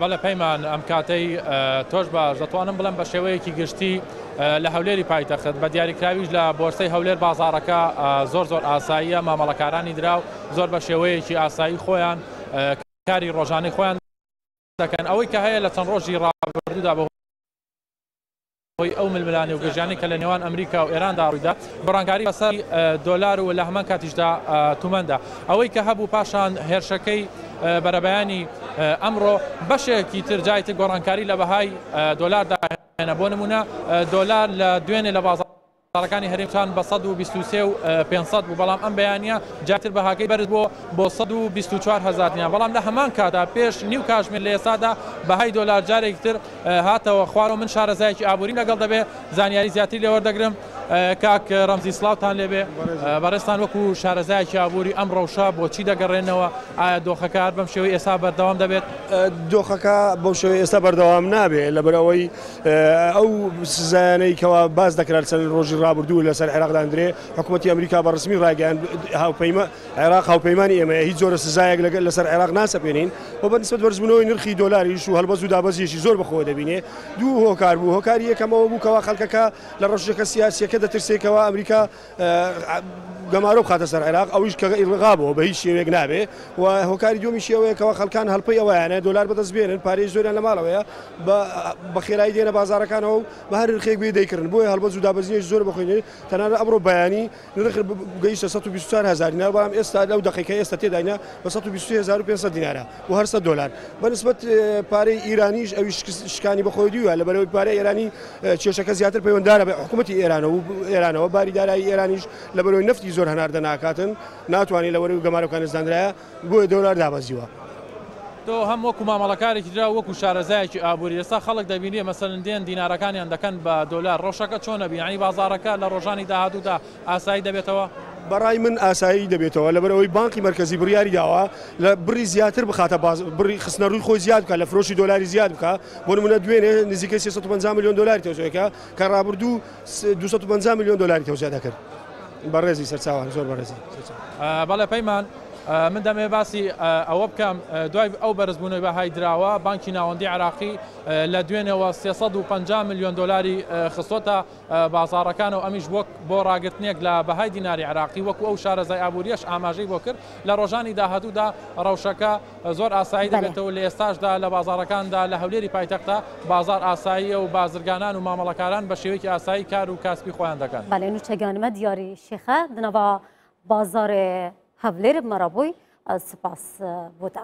بەڵێ پەیمان، ئەم کاتەی تۆش باش، دەتوانم بڵێم بە شێوەیەکی گشتی لە هەولێری پایتەخت بە دیاریکراویش لە بۆرسەی هەولێر بازاڕەکە زۆر زۆر ئاساییە، مامەڵەکارانی دراو زۆر بە شێوەیەکی ئاسایی خۆیان کاری ڕۆژانەی خۆیان دەکەن، ئەوەی کە هەیە لە چەند ڕۆژی ڕابردوودا بە هۆی ئەو ململانێ و گرژیانەی کە لە نێوان ئەمریکا و ئێراندا ڕوویدا، گۆڕانکاری بەسەر دۆلار و لە هەمان کاتیشدا تومەندا. ئەوەی کە هەبوو پاشان هێرشەکەی بەرەبەیانی ئەمڕۆ بەشێکی تر جای تر گۆڕانکاری لە بەهای دۆلاردا هێنا. بۆ نمونە دۆلار لە دوێنێ لە بازاڕ بازاڕەکانی هەرێم چان بە 123 و 500 بوو، بەڵام ئەم بەیانییە جارتر بەهاکەی بەرز بووە بۆ 124 هەزار دینار، بەڵام لە هەمان کاتدا پێش نیو کاژمێر لە ئێستادا بەهای دۆلار جارێکی تر هاتەوە خوارەوە. من شارەزایەکی ئابووریم لەگەڵ دەبێ زانیاری زیاتری لێ وەردەگرم. کاک ڕەمزی سڵاوتان لێبێ، بەڕێزتان وەکو شارەزایەکی ئابووری ئەم ڕەوشە بۆچی دەگەڕێنەوە؟ ئایا دۆخەکە هەر بەم شێوەی ئێستا بەردەوام دەبێت؟ دۆخەکە بەو شێوەی ئێستا بەردەوام نابێت، لەبەرئەوەی ئەو سزایانەی کەوا باس دەکرا چەند ڕۆژی ڕابردوو لەسەر عێراق داندرێ، حکوومەتی ئەمریکا بە ڕسمی ڕایگەیاند هاوپەیما عێراق هاوپەیمانی ئێمەیە، هیچ جۆرە سزایەک لەگەل لەسەر عێراق ناسەپێنین و بە نسبەت بەرزبوونەوەی نرخی دۆلاریش و هەڵبەز و دابەزیەکی زۆر بەخۆوە دەبینێ. دوو هۆکار بوو، هۆکاری یەکەم ئەوە بوو کەوا خەڵکەکە لە ڕەوشەکە سیاسیەکە دەترسێ کەوا ئەمریکا گەمارۆ بخاتە سەر عێراق، ئەویش کە ئیلغا بۆ بە هیچ شێوەیەک نابێ و هۆکاری دووەمیشی ئەوەیە کەوا خەڵکان هەڵپەی ئەوەیانە دۆلار بەدەست بێنن، پارەی زۆریان لە ماڵەوەیە، بە خێرایی دێنە بازاڕەکانەوە و بە هەر نرخێک بێ دەیکڕن، بۆیە هەڵبەز و دابەزینێکی زۆر بەخۆی دێنێ. تەنانەت ئەمڕۆ بەیانی نرخ گەیشتە 124 هەزار دینار، بەڵام ئێستا لەو دەقیقەی ئێستا تێداینە بە 123,500 دینارە بۆ هەر 100 دۆلار. بە نسبەت پارەی ئیرانیش ئەویش شکانی بەخۆی دیوە، لەبەرئەوەی پارەی ئێرانی کێشەکە زیاتر پەیوەنددارە بە حکوومەتی ئێرانەوە، باری دارایی ئێرانیش لەبەرئەوەی نەفتی زۆر هەناردە ناکاتن، ناتوانێت لەبەرئەوەی گەمارۆکان دانرایە، بۆیە دۆلار دابەزیوە. تۆ هەم وەکو مامەڵەکارێکی دراو وەکو شارەزایەکی ئابووری ئێستا خەڵک دەبینێ مەسەلەن دێن دینارەکانیان دەکەن بە دۆلار ڕەوشەکە چۆنە بی یانی بازاڕەکە لە ڕۆژانی داهاتوودا ئاسایی دەبێتەوە؟ بەڕای من ئاسایی دەبێتەوە لەبەرئەوەی بانقی مەرکەزی بڕیاری داوە لە بڕی زیاتر بخاتە باز بڕی خستنەڕووی خۆی زیاد بکات لە فرۆشی دۆلاری زیاد بکات بۆ نمونە دوێنێ نزیکەی 350 ملیۆن دۆلاری تەوزیع کرد کە ڕابردوو 250 ملیۆن دۆلاری تەوزیع دەکرد. بەڕێزی سەرچاوان زۆر بەڕێزی. بەڵێ پەیمان من دەمەوێت باسی ئەوە بکەم دوای ئەو بەرزبوونەوەی بەهای دراوە بانکی ناوەندی عێراقی لە دوێنێوە 350 ملیۆن دۆلاری خستۆتە بازاڕەکانەوە ئەمیش وەک بۆ ڕاگرتنێک لە بەهای دیناری عێراقی وەکو ئەو شارەزای ئابووریەش ئاماژەی بۆ کرد لە ڕۆژانی داهاتوودا ڕەوشەکە زۆر ئاسایی دەبێتەوە لە ئێستاشدا لە بازاڕەکاندا لە هەولێری پایتەختە بازاڕ ئاساییە و بازرگانان و مامەڵەکاران بە شێوەیەکی ئاسایی کار و کاسپی خۆیان دەکەن. بەڵێ نوچەگانمە دیاری شێخە دنەوا بازاڕێ هەولێر مەرابووی سپاس بۆ تە.